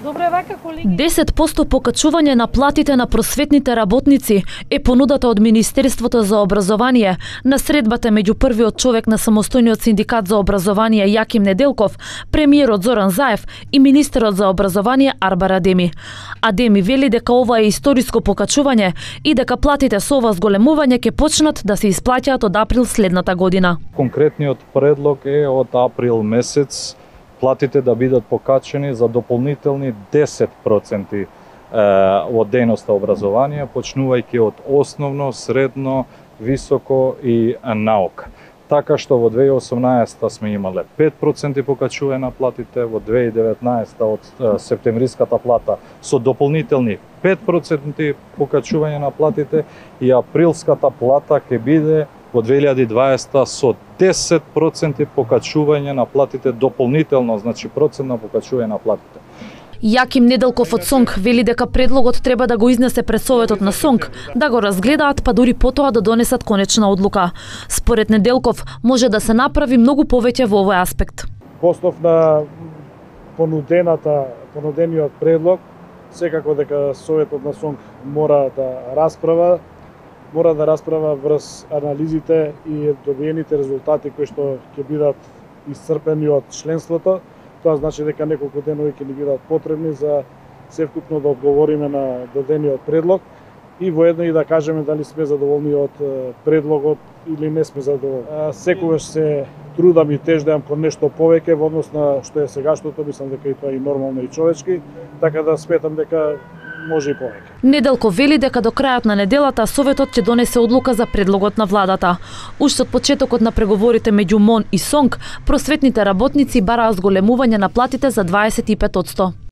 10% покачување на платите на просветните работници е понудата од Министерството за образование на средбата меѓу првиот човек на самостојниот синдикат за образование Јаким Неделков, премиерот Зоран Заев и министерот за образование Арбар Адеми. Адеми вели дека ова е историско покачување и дека платите со ова зголемување ќе почнат да се исплаќаат од април следната година. Конкретниот предлог е од април месец платите да бидат покачени за дополнителни 10% од дејноста образование, почнувајќи од основно, средно, високо и наука. Така што во 2018 сме имале 5% покачување на платите, во 2019 од септемвриската плата со дополнителни 5% покачување на платите и априлската плата ќе биде во 2020 со 10% покачување на платите дополнително, значи процентно покачување на платите. Јаким Неделков од СОНК вели дека предлогот треба да го изнесе пред Советот на СОНК, да го разгледаат, па дури потоа да донесат конечна одлука. Според Неделков може да се направи многу повеќе во овој аспект. По основ на понудениот предлог, секако дека Советот на СОНК мора да расправа врз анализите и добиените резултати кои што ќе бидат исцрпени од членството. Тоа значи дека неколку денови ќе ни бидат потребни за севкупно да одговориме на дадениот предлог и воедно и да кажеме дали сме задоволни од предлогот или не сме задоволни. Секогаш се трудам и теждам кон нешто повеќе во однос на што е сегашното, мислам дека и тоа е нормално и човечки, така да сметам дека може и повеќе. Неделков вели дека до крајот на неделата Советот ќе донесе одлука за предлогот на владата. Уште од почетокот на преговорите меѓу МОН и СОНК, просветните работници бараа зголемување на платите за 25%.